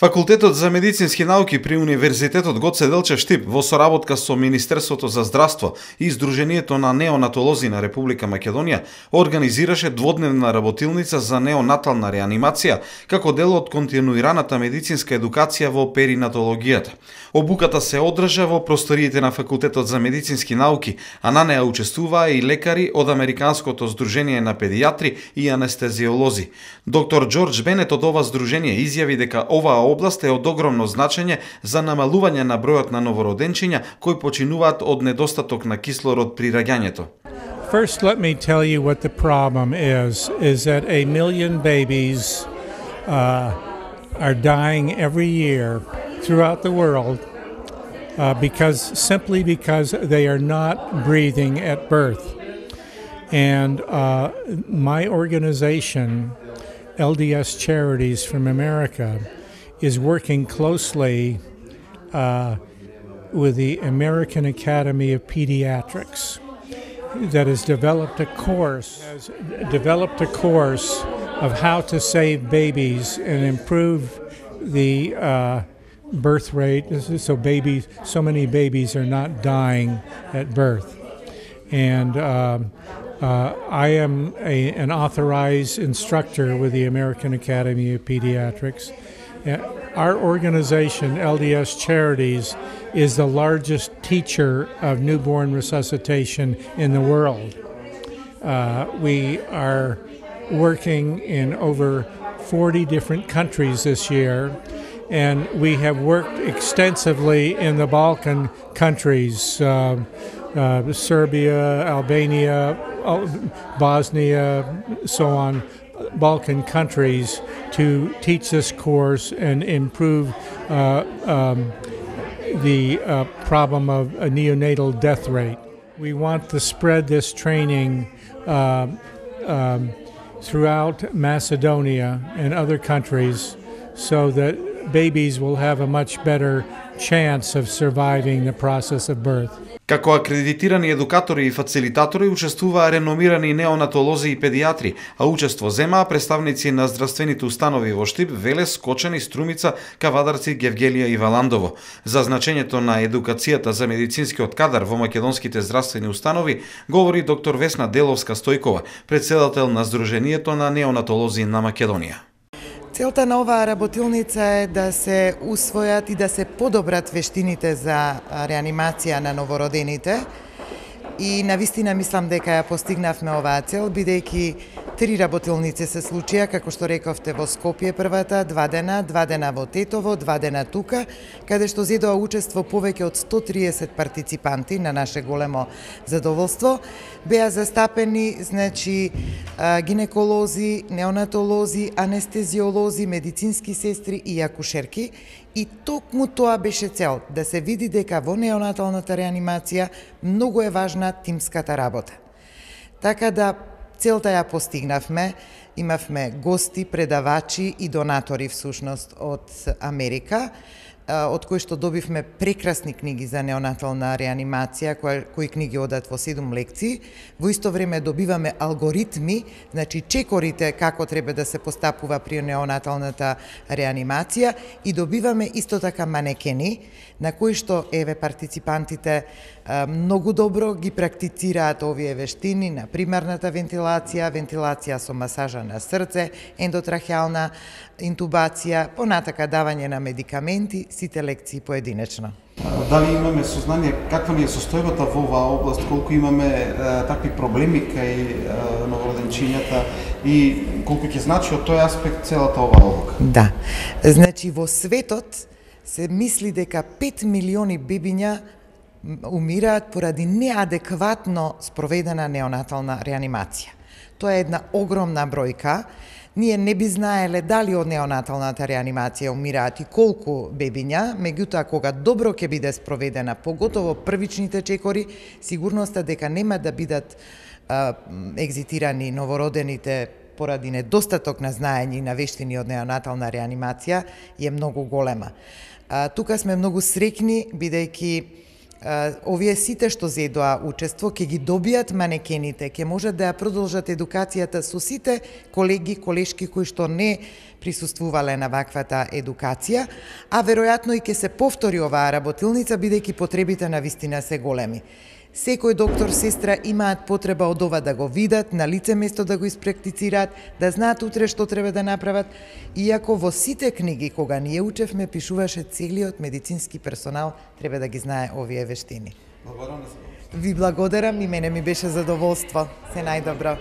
Факултетот за медицински науки при Универзитетот Гоце Делчев Штип во соработка со Министерството за здравство и Сдруженијето на неонатолози на Република Македонија организираше дводневна работилница за неонатална реанимација како дел од континуираната медицинска едукација во перинатологијата. Обуката се одржа во просториите на Факултетот за медицински науки, а на неа учествуваа и лекари од Американското сдружение на педијатри и анестезиолози. Доктор Џорџ Бенет од ова сдружение изјави дека оваа област е од огромно значење за намалување на бројот на новороденчиња кои починуваат од недостаток на кислород при раѓањето. First, let me tell you what the problem is that 1 million babies are dying every year throughout the world simply because they are not breathing at birth. And my organization, LDS Charities from America, is working closely with the American Academy of Pediatrics that has developed a course of how to save babies and improve the birth rate so many babies are not dying at birth. And I am an authorized instructor with the American Academy of Pediatrics. Our organization, LDS Charities, is the largest teacher of newborn resuscitation in the world. We are working in over 40 different countries this year, and we have worked extensively in the Balkan countries, Serbia, Albania, Bosnia, so on, Balkan countries, to teach this course and improve the problem of a neonatal death rate. We want to spread this training throughout Macedonia and other countries so that babies will have a much better chance of surviving the process of birth. Како акредитирани едукатори и фацилитатори учествуваа реномирани неонатолози и педијатри, а учество земаа представници на здравствените установи во Штип, Велес, Кочани, Струмица, Кавадарци, Гевгелија и Валандово. За значењето на едукацијата за медицинскиот кадар во македонските здравствени установи говори доктор Весна Деловска-Стојкова, председател на Сдруженијето на неонатолози на Македонија. Целта на оваа работилница е да се усвојат и да се подобрат вештините за реанимација на новородените и навистина мислам дека ја постигнавме оваа цел, бидејќи 3 работилници се случија, како што рековте, во Скопје првата, 2 дена во Тетово, 2 дена тука, каде што зедоа учество повеќе од 130 партиципанти, на наше големо задоволство. Беа застапени, гинеколози, неонатолози, анестезиолози, медицински сестри и акушерки, и токму тоа беше цел, да се види дека во неонаталната реанимација многу е важна тимската работа. Така да целта ја постигнавме, имавме гости, предавачи и донатори всушност од Америка, од кои што добивме прекрасни книги за неонатална реанимација, кои книги одат во 7 лекции. Во исто време добиваме алгоритми, чекорите како треба да се постапува при неонаталната реанимација, и добиваме исто така манекени, на кои што партиципантите многу добро ги практицираат овие вештини на примарната вентилација, вентилација со масажа на срце, ендотрахеална интубација, понатака давање на медикаменти, сите лекции поединечно. Дали имаме сознание каква ни е состојбата во оваа област, колку имаме такви проблеми кај новороденчињата и колку ќе значи од тој аспект целата оваа обука? Да. Во светот се мисли дека 5 милиони бебиња умираат поради неадекватно спроведена неонатална реанимација. Тоа е една огромна бројка. Ние не би знаеле дали од неонаталната реанимација умираат и колку бебиња, меѓутоа кога добро ќе биде спроведена, поготово првичните чекори, сигурноста дека нема да бидат екзитирани новородените поради недостаток на знаење и на вештини од неонатална реанимација е многу голема. Тука сме многу среќни, бидејќи овие сите што зедоа учество ќе ги добијат манекените, ќе можат да ја продолжат едукацијата со сите колеги, колешки кои што не присуствувале на ваквата едукација, а веројатно и ќе се повтори оваа работилница бидејќи потребите на вистина се големи. Секој доктор, сестра имаат потреба од ова да го видат, на лице место да го испрактицираат, да знаат утре што треба да направат, иако во сите книги кога ние учевме пишуваше целиот медицински персонал треба да ги знае овие вештини. Ви благодарам и мене ми беше задоволство. Се најдобро.